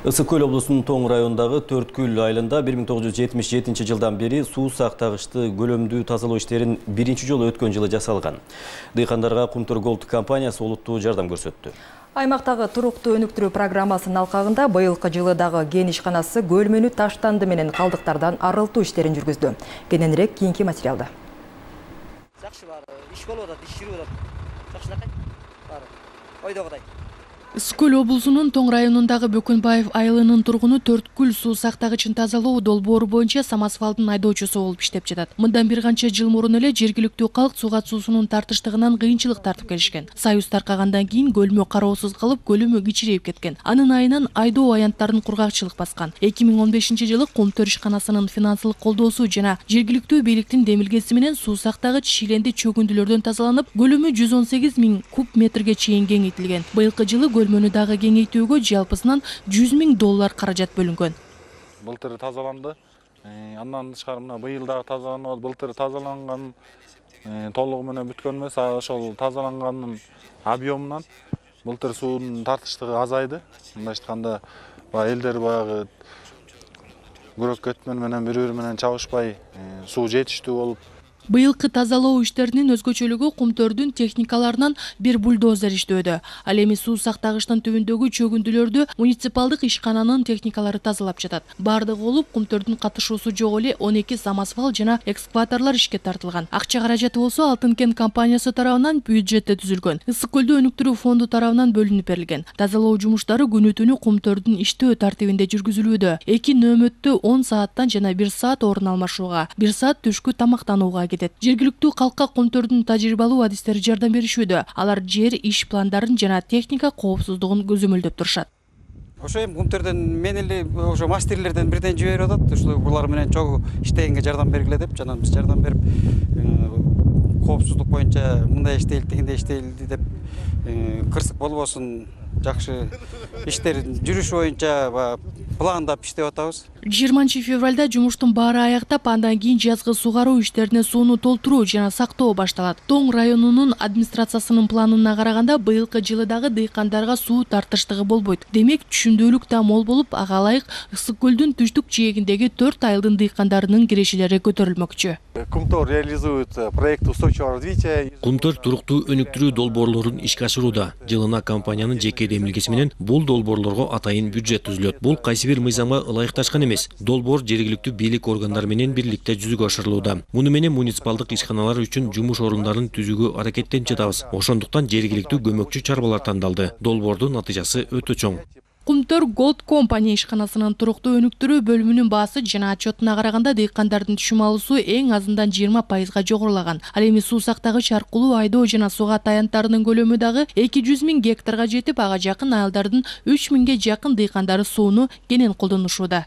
Ысык Көл облусунун Тоң районундагы Төрткүл айылында 1977 жылдан бери суу сактагычты көлөмдүү тазалоо иштерин биринчи жолу өткөн жылы жасалган. Дыйкандарга Кумтөр Голд компаниясы олуттуу жардам көрсөттү. Аймактагы туруктуу өнүктүрүү программасынын алкагында быйылкы жылы дагы кен ишканасы көлмөнү таштанды менен калдыктардан арылтуу иштерин жүргүздү. Кененирээк кийинки материалда. Жакшы бар, иш болуп атат, иш жүрүп атат. Жакшынакай бар. Ойдогудай. Ысык Көл облусунун Тоң районундагы Бөкөнбаев айылынын тургуну Төрткүл суу сактагычын тазалоо долбоору боюнча самосвалдын айдоочусу болуп иштеп жатат. Мындан бир канча жыл мурун эле жергиликтүү калк сууга суусунун тартыштыгынан кыйынчылык тартып келишкен. Союз таркагандан кийин көлмө кароосуз калып, көлөмү кичирейип кеткен. Анын айынан айдоо аянттарын кургакчылык баскан. 2015 жылы Кумтөр ишканасынын финансылык колдоосу жана жергиликтүү бийликтин демилгеси менен суу сактагыч шиленди чөгүндүлөрдөн тазаланып, көлөмү 118 000 куб метрге чейин кеңейтилген. Быйылкы жылы көлмөнү дагы кеңейтүүгө жалпысынан $100 000 каражат бөлүнгөн. Былтыр тазаланды. Андан тышкары мына быйыл дагы тазаланып, былтыр тазаланган толугу менен бүткөн эмес, ошол тазаланганын объемунан былтыр суунун тартыштыгы азайды. Мындай айтканда, элдер баягы күрөк кетмен менен бири-бири менен чабышпай суу жетиштүү болуп. Быйылкы тазалоо иштеринин өзгөчөлүгү Кумтөрдүн техникаларынан бир бульдозер иштөөдө. Ал эми суу сактагычтын түбүндөгү чөгүндүлөрдү муниципалдык ишкананын техникалары тазалап жатат. Бардыгы болуп Кумтөрдүн катышуусу жок эле 12 самосвал жана экскаваторлор ишке тартылган. Акча каражаты болсо Алтын кен компаниясы тарабынан бюджетте түзүлгөн. Ысык Көлдү өнүктүрүү фонду тарабынан бөлүнүп берилген. Тазалоо жумуштары күнү-түнү Кумтөрдүн иштөө тартибинде жүргүзүлүүдө. 2 нөөмөттө 10 сааттан жана 1 саат орун алмашууга, 1 саат түшкү тамактанууга кетет. Жергиликтүү калкка Кумтөрдүн тажрыйбалуу адистери жардам беришүүдө. Алар жер иш пландарын жана техника коопсуздугун көзөмөлдөп турушат. Ошо эми Кумтөрдөн мен эле ошо мастерлерден бирден жиберип атат. Ошо булар менен чогуу иштегенге жардам бергиле деп, жана биз жардам берип, коопсуздук боюнча мындай иштейли, тигиндей иштейли деп, кырсык болбосун, жакшы иштер жүрүш боюнча пландап иштеп атабыз. 20 февралда жумуштун баары аяктап, андан кийин жазгы сугаруу иштерине сууну толтуруу жана сактоо башталат. Тоң районунун администрациясынын планына караганда, быйылкы жылы дагы дыйкандарга суу тартыштыгы болбойт. Демек, түшүмдүүлүк да мол болуп, ага ылайык Ысык Көлдүн түштүк жээгиндеги 4 айылдын дыйкандарынын кирешелери көтөрүлмөкчү. Кумтөр реализует проект устойчивого развития. Кумтөр туруктуу өнүктүрүү долбоорлорун ишке ашырууда. Жылына компаниянын жеке демилгеси менен бул долбоорлорго атайын бюджет түзүлөт. Бул кайсы бир мыйзамга ылайыкташкан эмес. Долбоор жергиликтүү бийлик органдары менен бирликте жүзүгө ашырылууда. Муну менен муниципалдык ишканалар үчүн жумуш орундарын түзүүгө аракеттенип жатабыз. Ошондуктан жергиликтүү көмөкчү чарбалар тандалды. Долбоордун натыйжасы өтө чоң. Кумтөр Голд компания ишканасынын туруктуу өнүктүрүү бөлүмүнүн баасы жана отчетуна караганда, дыйкандардын түшүм алуусу эң азынан 20% жогорулаган. Ал эми суу сактагыч аркылуу айдоо жана суга таянттарынын көлөмү дагы 200 000 гектарга жетип, ага жакын айылдардын 3 000ге жакын дыйкандары сууну кенен колдонушууда.